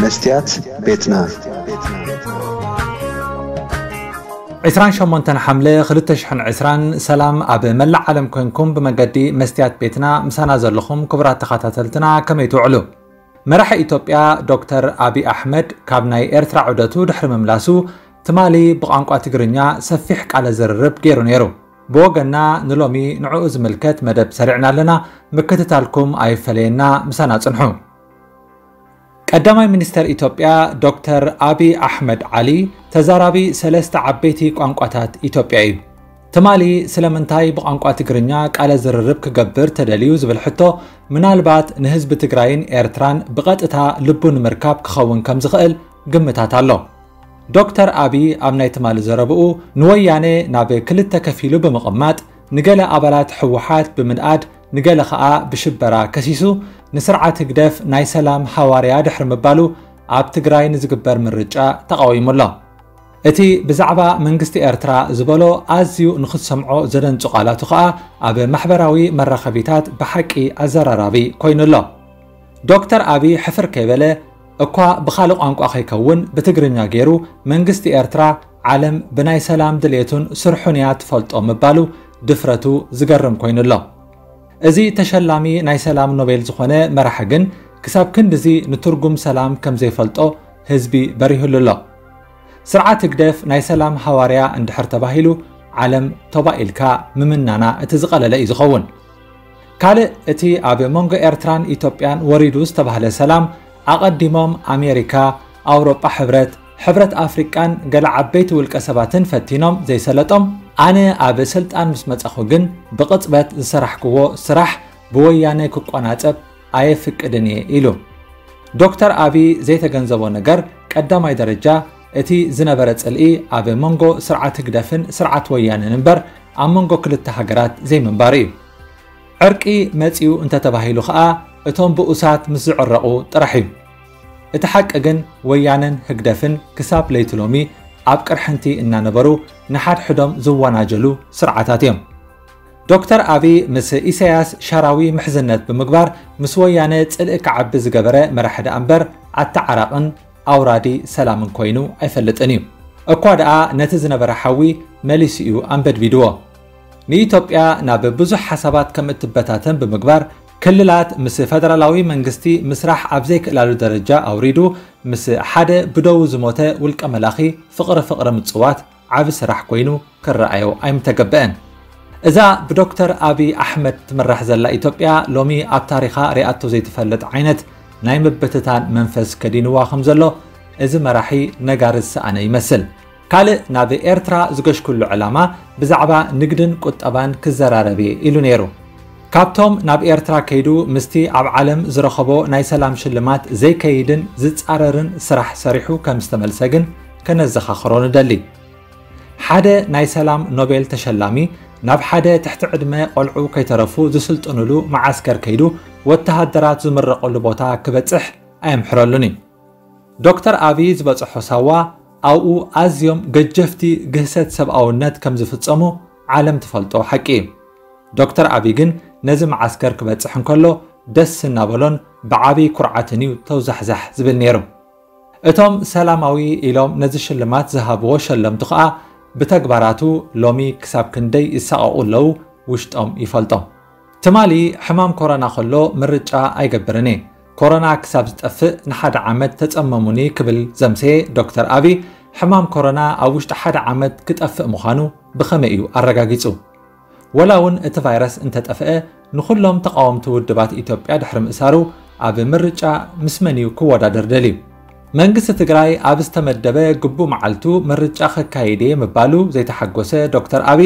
መስትያት ቤትና። ዕስራን ሸሞንተን ሓምለ ክልተ ሽሕን ዕስራን፣ ሰላም ኣብ መላእ ዓለም ኮንኩም ብመገዲ መስትያት ቤትና ምሳና ዘለኹም ክቡራት ተኸታተልትና ከመይ ትውዕሉ? መራሒ ኢትዮጵያ ዶክተር ኣቢ ኣሕመድ ካብ ናይ ኤርትራ ዑደቱ ድሕሪ ምምላሱ ትማሊ ብቋንቋ ትግርኛ ሰፊሕ ቃለ ዝርርብ ገይሩ ነይሩ። ብወገና ንሎሚ ንዕኡ ዝምልከት መደብ ሰሪዕና ኣለና። ምክትታልኩም ኣይፈለየና፣ ምሳና ጽንሑ። ቀዳማይ ሚኒስተር ኢትዮጵያ ዶክተር ኣቢ ኣሕመድ ዓሊ ተዛራቢ ሰለስተ ዓበይቲ ቋንቋታት ኢትዮጵያ እዩ። ትማሊ ስለምንታይ ብቋንቋ ትግርኛ ቃለ ዝርርብ ክገብር ተደልዩ ዝብል ሕቶ ምናልባት ንህዝቢ ትግራይን ኤርትራን ብቐጥታ ልቡ ንምርካብ ክኸውን ከም ዝኽእል ግምታት ኣሎ። ዶክተር ኣቢ ኣብ ናይ ትማሊ ዘረብኡ ንወያነ ናብ ክልተ ከፊሉ ብምቕማጥ ንገለ ኣባላት ህወሓት ብምንኣድ ንገለ ኸኣ ብሽበራ ከሲሱ ንስርዓት ህግደፍ ናይ ሰላም ሃዋርያ ድሕሪ ምባሉ ኣብ ትግራይ ንዝግበር ምርጫ ተቓዊሙ ኣሎ። እቲ ብዛዕባ መንግስቲ ኤርትራ ዝበሎ ኣዝዩ ንኽትሰምዖ ዘደንጹ ቃላቱ ኸኣ ኣብ ማሕበራዊ መራኸቢታት ብሓቂ ኣዘራራቢ ኮይኑ ኣሎ። ዶክተር ኣቢ ሕፍር ከይበለ እኳ ብኻልእ ቋንቋ ከይከውን ብትግርኛ ገይሩ መንግስቲ ኤርትራ ዓለም ብናይ ሰላም ድሌቱን ስርሑን እያ ትፈልጦ ምባሉ ድፍረቱ ዝገርም ኮይኑ ኣሎ። እዚ ተሸላሚ ናይ ሰላም ኖቤል ዝኾነ መራሒ ግን ክሳብ ክንድዚ ንትርጉም ሰላም ከም ዘይፈልጦ ህዝቢ በሪህሉ ኣሎ። ስርዓት ህግደፍ ናይ ሰላም ሃዋርያ እንድሕር ተባሂሉ ዓለም ተባኢልካ ምምናና እቲ ዝቐለለ እዩ ዝኸውን። ካልእ እቲ ኣብ መንጎ ኤርትራን ኢትዮጵያን ወሪዱ ዝተባህለ ሰላም ኣቐዲሞም ኣሜሪካ፣ ኣውሮጳ ሕብረት፣ ሕብረት ኣፍሪቃን ገለ ዓበይቲ ውልቀ ሰባትን ፈቲኖም ዘይሰለጦም፣ ኣነ ኣብ ስልጣን ምስ መጻኹ ግን ብቕጽበት ዝሰራሕክዎ ስራሕ ብወያነ ክቆናጸብ ኣየፍቅድን እየ ኢሉ። ዶክተር ኣቢ ዘይተገንዘቦ ነገር ቀዳማይ ደረጃ እቲ ዝነበረ ጽልኢ ኣብ መንጎ ስርዓት ህግደፍን ስርዓት ወያነን እምበር ኣብ መንጎ ክልተ ሃገራት ዘይምንባሩ እዩ። ዕርቂ መጺኡ እንተተባሂሉ ኸኣ እቶም ብኡሳት ምስ ዝዕረቑ ጥራሕ እዩ። እቲ ሓቂ ግን ወያነን ህግደፍን ክሳብ ለይቲ ሎሚ ኣብ ቅርሕንቲ እናነበሩ ንሓድሕዶም ዝወናጀሉ ስርዓታት እዮም። ዶክተር ኣቢ ምስ ኢሳያስ ሻራዊ ምሕዝነት ብምግባር ምስ ወያነ ጽልኢ ክዓቢ ዝገበረ መራሒ ደኣ እምበር ኣተዓራቕን ኣውራዲ ሰላምን ኮይኑ ኣይፈልጥን እዩ። እኳ ደኣ ነቲ ዝነበረ ሓዊ መሊሱ እዩ ኣንበድቢድዎ። ንኢትዮጵያ ናብ ብዙሕ ሓሳባት ከም እትበታተን ብምግባር ክልላት ምስ ፈደራላዊ መንግስቲ ምስራሕ ኣብ ዘይክእላሉ ደረጃ ኣውሪዱ ምስ ሓደ ብደዉ ዝሞተ ውልቀ መላኺ ፍቕሪ ፍቕሪ ምጽዋት ዓቢ ስራሕ ኮይኑ ክረኣዮ ኣይምተገበአን። እዛ ብዶክተር ኣቢ ኣሕመድ ትምራሕ ዘላ ኢትዮጵያ ሎሚ ኣብ ታሪኻ ሪኣቶ ዘይትፈልጥ ዓይነት ናይ ምብትታን መንፈስ ከዲንዋ ከም ዘሎ እዚ መራሒ ነጋሪ ዝሰኣነ ይመስል። ካልእ ናብ ኤርትራ ዝገሽኩሉ ዕላማ ብዛዕባ ንግድን ቁጠባን ክዘራረብ እየ ኢሉ ነይሩ። ካብቶም ናብ ኤርትራ ከይዱ ምስቲ ኣብ ዓለም ዝረኸቦ ናይ ሰላም ሽልማት ዘይከይድን ዝጻረርን ስራሕ ሰሪሑ ከም ዝተመልሰ ግን ከነዘኻኽሮ ንደሊ። ሓደ ናይ ሰላም ኖቤል ተሸላሚ ናብ ሓደ ትሕቲ ዕድመ ቆልዑ ከይተረፉ ዝስልጥኑሉ መዓስከር ከይዱ ወተሃደራት ዝምረቐሉ ቦታ ክበጽሕ ኣየምሕረሉን እዩ። ዶክተር ኣቢ ዝበጽሖ ሳዋ ኣብኡ ኣዝዮም ገጀፍቲ ግህሰት ሰብኣውነት ከም ዝፍጸሙ ዓለም ትፈልጦ ሓቂ እዩ። ዶክተር ኣቢ ግን ነዚ መዓስከር ክበጽሕ እንከሎ ደስ እናበሎን ብዓቢ ኩርዓትን እዩ ተውዛሕዛሕ ዝብል ነይሩ። እቶም ሰላማዊ ኢሎም ነዚ ሽልማት ዝሃብዎ ሸለምቱ ኸኣ ብተግባራቱ ሎሚ ክሳብ ክንደይ ይሳቐቑ ኣለዉ ውሽጦም ይፈልጦም። ትማሊ ሕማም ኮሮና ከሎ ምርጫ ኣይገብርን እየ። ኮሮና ክሳብ ዝጠፍእ ንሓደ ዓመት ተጸመሙኒ ክብል ዘምሰየ ዶክተር ኣቢ ሕማም ኮሮና ኣብ ውሽጢ ሓደ ዓመት ክጠፍእ ምዃኑ ብኸመይ እዩ ኣረጋጊጹ? ወላ እውን እቲ ቫይረስ እንተጠፍአ ንኹሎም ተቓወምቲ ውድባት ኢትዮጵያ ድሕሪ ምእሳሩ ኣብ ምርጫ ምስ መን እዩ ክወዳደር ደልዩ? መንግስቲ ትግራይ ኣብ ዝተመደበ ግቡእ መዓልቱ ምርጫ ከካይድ እየ ምባሉ ዘይተሓጎሰ ዶክተር ኣቢ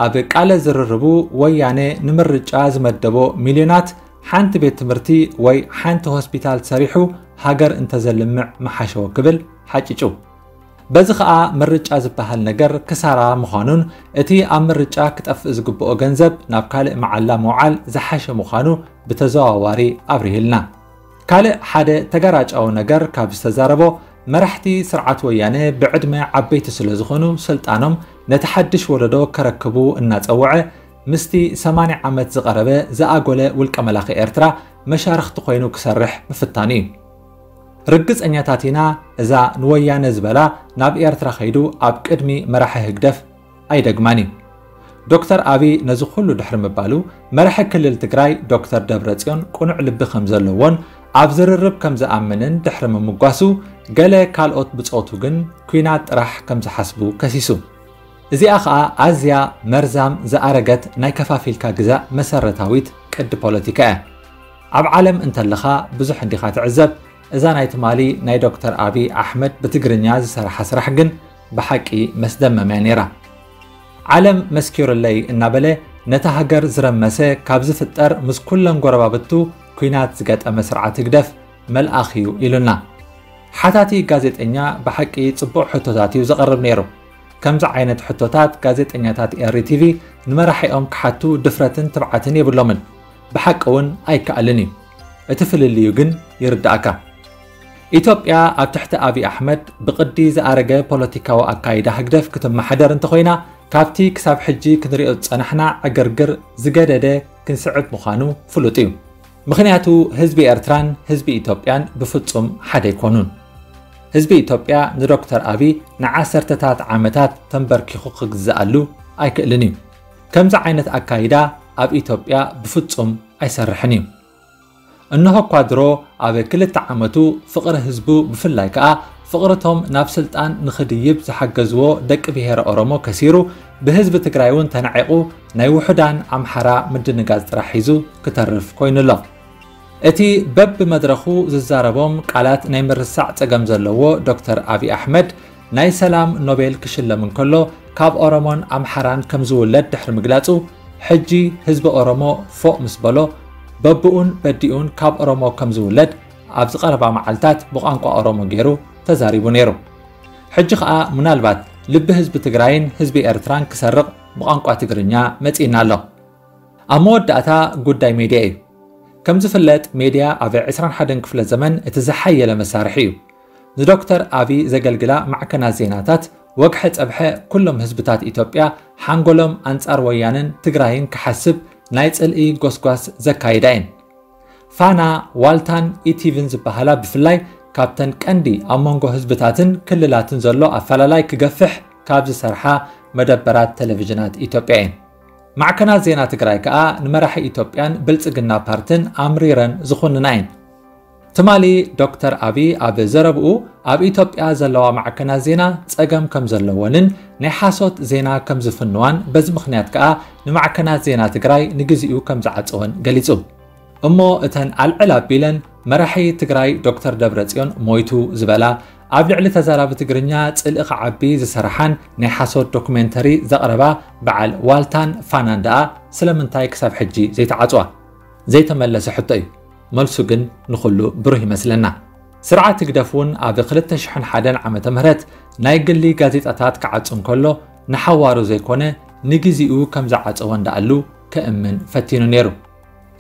ኣብ ቃለ ዝርርቡ ወያነ ንምርጫ ዝመደቦ ሚልዮናት ሓንቲ ቤት ትምህርቲ ወይ ሓንቲ ሆስፒታል ሰሪሑ ሃገር እንተዘልምዕ ምሓሸዎ ክብል ሓጭጩ። በዚ ኸኣ ምርጫ ዝበሃል ነገር ክሳራ ምዃኑን እቲ ኣብ ምርጫ ክጠፍእ ዝግብኦ ገንዘብ ናብ ካልእ መዓላ ምውዓል ዝሓሸ ምዃኑ ብተዘዋዋሪ ኣብሪህልና። ካልእ ሓደ ተገራጫዊ ነገር ካብ ዝተዛረቦ መራሕቲ ስርዓት ወያነ ብዕድመ ዓበይቲ ስለ ዝኾኑ ስልጣኖም ነቲ ሓድሽ ወለዶ ከረክቡ እናጸውዐ ምስቲ ሰማንያ ዓመት ዝቐረበ ዝኣጎለ ውልቀ መላኺ ኤርትራ መሻርኽቲ ኮይኑ ክሰርሕ ምፍታኑ እዩ። ርግጸኛታት ኢና፣ እዛ ንወያነ ዝበላ ናብ ኤርትራ ከይዱ ኣብ ቅድሚ መራሒ ህግደፍ ኣይደግማን እዩ። ዶክተር ኣቢ ነዚ ኩሉ ድሕሪ ምባሉ፣ መራሒ ክልል ትግራይ ዶክተር ደብረጽዮን ቅኑዕ ልቢ ከም ዘለዎን ኣብ ዝርርብ ከም ዝኣምንን ድሕሪ ምምጓሱ፣ ገለ ካልኦት ብጾቱ ግን ኲናት ጥራሕ ከም ዝሓስቡ ከሲሱ። እዚኣ ኸኣ ኣዝያ መርዛም ዝኣረገት ናይ ከፋፊልካ ግዛእ መሰረታዊት ቅዲ ፖለቲካ እያ። ኣብ ዓለም እንተለኻ ብዙሕ እንዲኻ ትዕዘብ። እዛ ናይ ትማሊ ናይ ዶክተር ኣቢ ኣሕመድ ብትግርኛ ዝሰርሓ ስራሕ ግን ብሓቂ መስደመም እያ ነይራ። ዓለም መስኪሩለይ እናበለ ነታ ሃገር ዝረመሰ ካብ ዝፍጠር ምስ ኩለን ጎረባብቱ ኲናት ዝገጠመ ስርዓት ህግደፍ መልኣኽ እዩ ኢሉና። ሓታቲ ጋዜጠኛ ብሓቂ ጽቡቕ ሕቶታት እዩ ዘቕርብ ነይሩ። ከምዚ ዓይነት ሕቶታት ጋዜጠኛታት ኤሪ ቲቪ ንመራሒኦም ክሓቱ ድፍረትን ትብዓትን የብሎምን። ብሓቂ እውን ኣይከኣልን እዩ። እቲ ፍልልዩ ግን ይርዳእካ። ኢትዮጵያ ኣብ ትሕቲ ኣቢ ኣሕመድ ብቕዲ ዝኣረገ ፖለቲካዊ ኣካይዳ ህግደፍ ክትመሓደር እንተኾይና፣ ካብቲ ክሳብ ሕጂ ክንሪኦ ዝጸናሕና ዕግርግር ዝገደደ ክንስዕብ ምዃኑ ፍሉጥ እዩ። ምኽንያቱ ህዝቢ ኤርትራን ህዝቢ ኢትዮጵያን ብፍጹም ሓደ ኣይኮኑን። ህዝቢ ኢትዮጵያ ንዶክተር ኣቢ ንዓሰርተታት ዓመታት ተንበርኪኹ ክግዝኣሉ ኣይክእልን እዩ። ከምዚ ዓይነት ኣካይዳ ኣብ ኢትዮጵያ ብፍጹም ኣይሰርሕን እዩ። እንሆ እኳ ድሮ ኣብ ክልተ ዓመቱ ፍቕሪ ህዝቡ፣ ብፍላይ ከኣ ፍቕርቶም ናብ ስልጣን ንኽድይብ ዝሓገዝዎ ደቂ ብሄረ ኦሮሞ ከሲሩ፣ ብህዝቢ ትግራይ እውን ተናዒቑ ናይ ውሑዳን ኣምሓራ ምድንጋጽ ጥራሕ ሒዙ ክተርፍ ኮይኑ ኣሎ። እቲ በብመድረኹ ዝዛረቦም ቃላት ናይ ምርሳዕ ጸገም ዘለዎ ዶክተር ኣቢ ኣሕመድ ናይ ሰላም ኖቤል ክሽለም እንከሎ ካብ ኦሮሞን ኣምሓራን ከም ዝውለድ ድሕሪ ምግላጹ፣ ሕጂ ህዝቢ ኦሮሞ ፎእ ምስ በሎ፣ በብኡን በዲኡን ካብ ኦሮሞ ከም ዝውለድ ኣብዚ ቀረባ መዓልታት ብቋንቋ ኦሮሞ ገይሩ ተዛሪቡ ነይሩ። ሕጂ ኸኣ ምናልባት ልቢ ህዝቢ ትግራይን ህዝቢ ኤርትራን ክሰርቕ ብቋንቋ ትግርኛ መጺእና ኣሎ። ኣብ መወዳእታ ጉዳይ ሜድያ እዩ። ከም ዝፍለጥ ሜድያ ኣብ ዕስራን ሓደን ክፍለ ዘመን እቲ ዝሓየለ መሳርሒ እዩ። ንዶክተር ኣቢ ዘገልግላ ማዕከናት ዜናታት ወግሐ ጸብሐ ኩሎም ህዝብታት ኢትዮጵያ ሓንጎሎም ኣንጻር ወያነን ትግራይን ክሓስብ ናይ ጽልኢ ጎስጓስ ዘካይዳ እየን። ፋና፣ ዋልታን ኢቲቪን ዝበሃላ ብፍላይ ካብተን ቀንዲ ኣብ መንጎ ህዝብታትን ክልላትን ዘሎ ኣፈላላይ ክገፍሕ ካብ ዝሰርሓ መደበራት ቴሌቪዥናት ኢትዮጵያ እየን። ማዕከናት ዜና ትግራይ ከኣ ንመራሒ ኢትዮጵያን ብልጽግና ፓርትን ኣምሪረን ዝኹንና እየን። ትማሊ ዶክተር ኣቢ ኣብ ዘረብኡ ኣብ ኢትዮጵያ ዘለዋ ማዕከናት ዜና ጸገም ከም ዘለወንን ናይ ሓሶት ዜና ከም ዝፍንዋን በዚ ምኽንያት ከኣ ንማዕከናት ዜና ትግራይ ንግዚኡ ከም ዝዓጸወን ገሊጹ። እሞ እተን ኣልዕል ኣቢለን መራሒ ትግራይ ዶክተር ደብረጽዮን ሞይቱ ዝበላ፣ ኣብ ልዕሊ ተዛራቢ ትግርኛ ጽልኢ ክዓቢ ዝሰርሓን ናይ ሓሶት ዶኩሜንተሪ ዘቕረባ በዓል ዋልታን ፋናን ደኣ ስለምንታይ ክሳብ ሕጂ ዘይተዓጽዋ? ዘይተመለሰ ሕቶ እዩ። መልሱ ግን ንኹሉ ብሩህ ይመስለና። ስርዓት ህግደፍ እውን ኣብ ክልተ ሽሕን ሓደን ዓመተ ምህረት ናይ ግሊ ጋዜጣታት ክዓጹ እንከሎ ንሓዋሩ ዘይኮነ ንግዚኡ ከም ዝዓጸወ እንዳኣሉ ከእምን ፈቲኑ ነይሩ።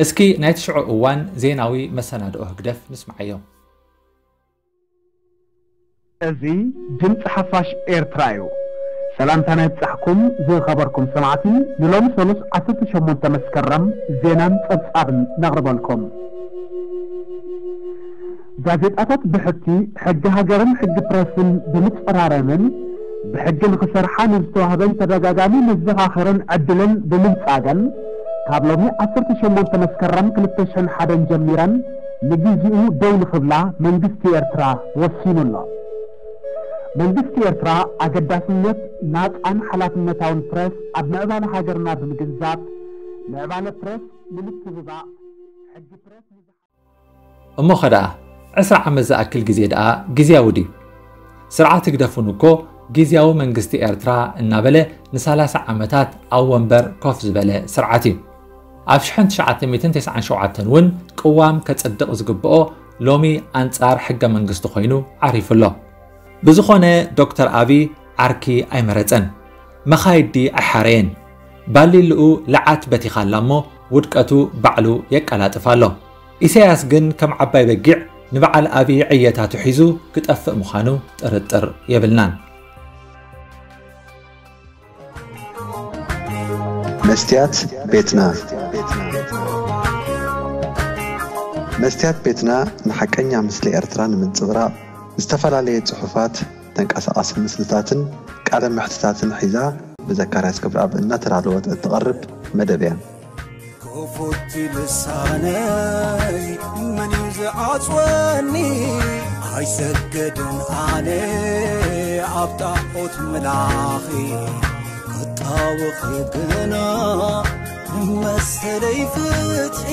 እስኪ ናይ ትሽዑ እዋን ዜናዊ መሰናድኦ ህግደፍ ንስምዓዮ። እዚ ድምፂ ሓፋሽ ኤርትራ እዩ። ሰላምታና ይብጻሕኩም ዝኸበርኩም ሰማዕቲ፣ ንሎሚ ሰሉስ ዓሰርተ ሸሞንተ መስከረም ዜናን ጸብጻብን ነቕርበልኩም። ጋዜጣታት ብሕቲ ሕጊ ሃገርን ሕጊ ፕረስን ብምጽራረምን ብሕጊ ንኽሰርሓ ንዝተዋህበን ተደጋጋሚ መዘኻኸርን ዕድልን ብምንጻገን፣ ካብ ሎሚ ዓሰርተ ሸሞንተ መስከረም ክልተ ሽሕን ሓደን ጀሚረን ንግዜኡ ደው ንኽብላ መንግስቲ ኤርትራ ወሲኑ ኣሎ። መንግስቲ ኤርትራ ኣገዳስነት ናጻን ሓላፍነታውን ፕረስ ኣብ ምዕባለ ሃገርና ብምግንዛብ፣ ምዕባለ ፕረስ ንምትብባዕ፣ ሕጊ ፕረስ ንዝሓ- እሞ ኸ ደኣ ዕስራ ዓመት ዝኣክል ግዜ ደኣ ግዝያዊ ድዩ? ስርዓት ህግደፍ እውን እኮ ግዝያዊ መንግስቲ ኤርትራ እናበለ ንሰላሳ ዓመታት ኣብ ወንበር ኮፍ ዝበለ ስርዓት እዩ። ኣብ ሽሕን ትሽዓተ ሚእትን ተስዓን ሸውዓተን እውን ቅዋም ከጽድቕ ዝግብኦ ሎሚ ኣንጻር ሕገ መንግስቲ ኮይኑ ዓሪፉ ኣሎ። ብዝኾነ ዶክተር ኣቢ ዓርኪ ኣይመረጸን፣ መኻይዲ ኣይሓረየን። ባሊልኡ ለዓት በቲኻ ኣላ እሞ ውድቀቱ ባዕሉ የቀላጥፍ ኣሎ። ኢሳያስ ግን ከም ዓባይ በጊዕ ንበዓል ኣቢ ዕየታቱ ሒዙ ክጠፍእ ምዃኑ ጥርጥር የብልናን። መስትያት ቤትና። መስትያት ቤትና ንሓቀኛ ምስሊ ኤርትራ ንምንጽብራቕ ዝተፈላለየ ጽሑፋት፣ ተንቀሳቓሲ ምስልታትን ቃለ መሕትታትን ሒዛ ብዘካርያስ ክብረኣብ እናተዳለወት እትቐርብ መደብ እያ። ክፉት ልሳነይ መን እዩ ዝዓጽወኒ? ኣይሰገድን ኣነ ኣብ ጣዖት ምላኺ ክጣወኺ ግና መሰለይ ፍትሒ